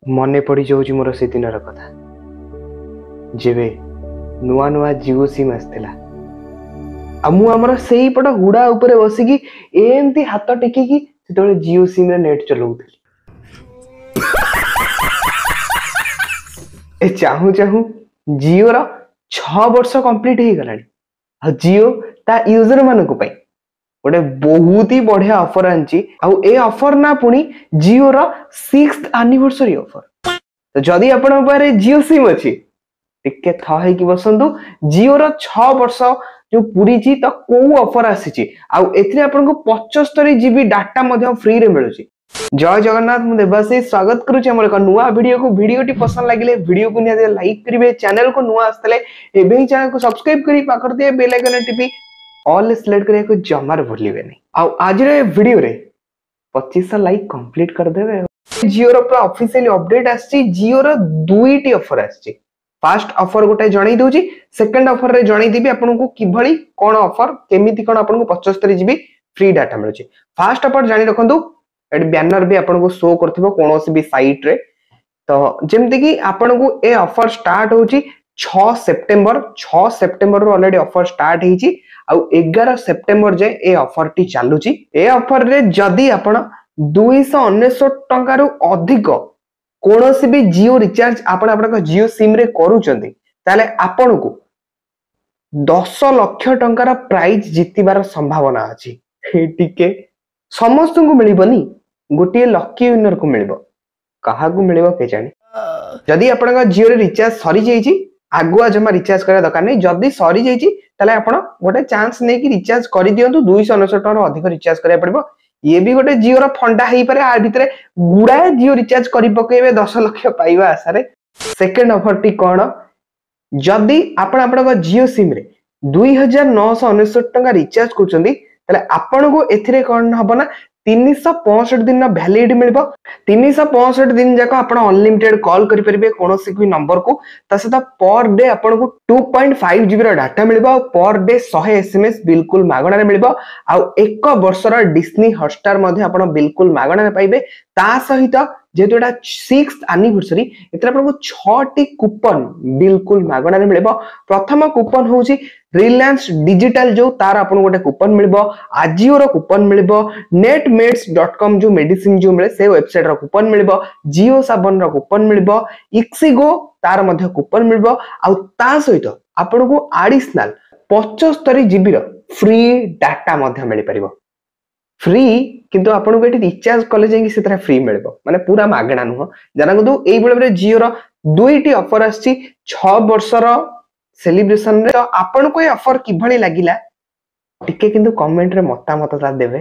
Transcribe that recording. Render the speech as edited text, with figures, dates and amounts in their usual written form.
ମନେ ପଡ଼ିଯାଉଛି ମୋର ସେଦିନର କଥା, ଯେବେ ନୂଆ ନୂଆ ଜିଓ ସିମ୍ ଆସିଥିଲା ଆଉ ମୁଁ ଆମର ସେଇପଟ ହୁଡ଼ା ଉପରେ ବସିକି ଏମିତି ହାତ ଟେକିକି ସେତେବେଳେ ଜିଓ ସିମ୍ରେ ନେଟ୍ ଚଲାଉଥିଲି। ଏ ଚାହୁଁ ଚାହୁଁ ଜିଓର 6 ବର୍ଷ କମ୍ପ୍ଲିଟ୍ ହେଇଗଲାଣି ଆଉ ଜିଓ ତା ୟୁଜର ମାନଙ୍କ ପାଇଁ ଗୋଟେ ବହୁତ ହି ବଢିଆ ଅଫର ଆଣିଛି। ଆଉ ଏ ଅଫର ନା ପୁଣି ଜିଓର 6th anniversary offer. ତ ଯଦି ଆପଣଙ୍କ ପାଖରେ ଜିଓ ସିମ୍ ଅଛି, ଟିକେ ଥ ହେଇକି ବସନ୍ତୁ। ଜିଓର 6 ବର୍ଷ ଯୋଉ ପୁରିଛି, ତ କୋଉ ଅଫର ଆସିଛି ଆଉ ଏଥିରେ ଆପଣଙ୍କୁ 75 ଜିବି ଡାଟା ମଧ୍ୟ ଫ୍ରିରେ ମିଳୁଛି। ଜୟ ଜଗନ୍ନାଥ, ମୁଁ ଦେବାଶିଷ ସ୍ୱାଗତ କରୁଛି ଆମର ଏକ ନୂଆ ଭିଡିଓକୁ। ଭିଡିଓଟି ପସନ୍ଦ ଲାଗିଲେ ଭିଡିଓକୁ ନିହାତି ଲାଇକ୍ କରିବେ। ଚ୍ୟାନେଲକୁ ନୂଆ ଆସିଥିଲେ ଏବେ ହିଁ ଚ୍ୟାନେଲକୁ ସବସ୍କ୍ରାଇବ କରି ପାଖରେ ଥିବା ବେଲ୍ ଆଇକନ ଟିପି ଅଲ୍ ସିଲେକ୍ଟ କରିବାକୁ ଜମାରୁ ଭୁଲିବେନି। ଆଉ ଆଜିର ଏ ଭିଡିଓରେ 2500 ଲାଇକ୍ କମ୍ପ୍ଲିଟ କରିଦେବେ। ଜିଓର ପୁରା ଅଫିସିଆଲି ଅପଡେଟ ଆସିଛି। ଜିଓର 2ଟି ଅଫର ଆସିଛି। ଫାଷ୍ଟ ଅଫର ଗୋଟେ ଜଣେଇ ଦଉଛି, ସେକେଣ୍ଡ ଅଫରରେ ଜଣେଇଦେବି ଆପଣଙ୍କୁ କିଭଳି କଣ ଅଫର, କେମିତି କଣ ଆପଣଙ୍କୁ 75 ଜିବି ଫ୍ରି ଡାଟା ମିଳୁଛି। ଫାଷ୍ଟ ଅଫର ଜାଣି ରଖନ୍ତୁ, ଏଠି ବ୍ୟାନର ବି ଆପଣଙ୍କୁ ଶୋ କରୁଥିବ କୌଣସି ବି ସାଇଟରେ। ତ ଯେମିତିକି ଆପଣଙ୍କୁ ଏ ଅଫର ଷ୍ଟାର୍ଟ ହଉଛି 6 ସେପ୍ଟେମ୍ବର, 6 ସେପ୍ଟେମ୍ବରରୁ ଅଲରେଡି ଅଫର ଷ୍ଟାର୍ଟ ହେଇଛି ଆଉ 11 ସେପ୍ଟେମ୍ବର ଯାଏ ଏ ଅଫରଟି ଚାଲୁଛି। ଏ ଅଫରରେ ଯଦି ଆପଣ 299 ଟଙ୍କାରୁ ଅଧିକ କୌଣସି ବି ଜିଓ ରିଚାର୍ଜ ଆପଣ ଆପଣଙ୍କ ଜିଓ ସିମ୍ ରେ କରୁଛନ୍ତି, ତାହେଲେ ଆପଣଙ୍କୁ 10 ଲକ୍ଷ ଟଙ୍କାର ପ୍ରାଇଜ ଜିତିବାର ସମ୍ଭାବନା ଅଛି। ଟିକେ ସମସ୍ତଙ୍କୁ ମିଳିବନି, ଗୋଟିଏ ଲକି ୱିନରକୁ ମିଳିବ। କାହାକୁ ମିଳିବ କେଜାଣି। ଯଦି ଆପଣଙ୍କ ଜିଓରେ ରିଚାର୍ଜ ସରିଯାଇଛି, ଆଗୁଆ ଜମା ରିଚାର୍ଜ କରିବା ଦରକାର ନାହିଁ। ଯଦି ସରିଯାଇଛି, ତାହେଲେ ଆପଣ ଗୋଟେ ଚାନ୍ସ ନେଇକି ରିଚାର୍ଜ କରିଦିଅନ୍ତୁ। 299 ଟଙ୍କାରୁ ଅଧିକ ରିଚାର୍ଜ କରିବାକୁ ପଡିବ। ଇଏ ବି ଗୋଟେ ଜିଓର ଫଣ୍ଡା ହେଇପାରେ, ଆ ଭିତରେ ଗୁଡାଏ ଜିଓ ରିଚାର୍ଜ କରି ପକେଇବେ 10 ଲକ୍ଷ ପାଇବା ଆଶାରେ। ସେକେଣ୍ଡ ଅଫରଟି କଣ? ଯଦି ଆପଣ ଆପଣଙ୍କ ଜିଓ ସିମ୍ ରେ 2999 ଟଙ୍କା ରିଚାର୍ଜ କରୁଛନ୍ତି, ତାହେଲେ ଆପଣଙ୍କୁ ଏଥିରେ କଣ ହବ ନା 365 ଦିନ ଭ୍ୟାଲିଡ ମିଳିବ। 365 ଦିନ ଯାକ ଆପଣ ଅନଲିମିଟେଡ କଲ୍ କରିପାରିବେ କୌଣସି ବି ନମ୍ବରକୁ। ତା ସହିତ ପର ଡେ ଆପଣଙ୍କୁ 2.5 ଜିବି ର ଡାଟା ମିଳିବ ଆଉ ପର ଡେ 100 ଏସଏମଏସ୍ ବିଲକୁଲ ମାଗଣାରେ ମିଳିବ ଆଉ 1 ବର୍ଷର ଡିସ୍ନି ହଟଷ୍ଟାର ମଧ୍ୟ ଆପଣ ବିଲକୁଲ ମାଗଣାରେ ପାଇବେ। ତା ସହିତ ଯେହେତୁ ଏଟା 6th anniversary, ଏଥିରେ ଆପଣଙ୍କୁ 6ଟି କୁପନ ବିଲକୁଲ ମାଗଣାରେ ମିଳିବ। ପ୍ରଥମ କୁପନ ହଉଛି ରିଲାଏନ୍ସ ଡିଜିଟାଲ ଯୋଉ, ତାର ଆପଣଙ୍କୁ ଗୋଟେ କୁପନ ମିଳିବ, ଆଜିଓର କୁପନ ମିଳିବ, ନେଟ୍ ମେଡ୍ସ ଡଟ୍ କମ୍ ଯୋଉ ମେଡିସିନ ଯୋଉ ମିଳେ ସେ ୱେବସାଇଟ ର କୁପନ ମିଳିବ, ଜିଓ ସାବନର କୁପନ ମିଳିବ, ଇକ୍ସିଗୋ ତାର ମଧ୍ୟ କୁପନ ମିଳିବ ଆଉ ତା ସହିତ ଆପଣଙ୍କୁ ଆଡିସନାଲ 75 ଜିବି ର ଫ୍ରି ଡାଟା ମଧ୍ୟ ମିଳିପାରିବ। ଫ୍ରି, କିନ୍ତୁ ଆପଣଙ୍କୁ ଏଠି ରିଚାର୍ଜ କଲେ ଯାଇକି ସେଥିରେ ଫ୍ରି ମିଳିବ, ମାନେ ପୁରା ମାଗଣା ନୁହଁ। ଜାଣନ୍ତୁ, ଏଇଭଳି ଭାବରେ ଜିଓର 2ଟି ଅଫର ଆସିଛି 6 ବର୍ଷର ସେଲିବ୍ରେସନରେ। ତ ଆପଣଙ୍କୁ ଏ ଅଫର କିଭଳି ଲାଗିଲା, ଟିକେ କିନ୍ତୁ କମେଣ୍ଟରେ ମତାମତଟା ଦେବେ।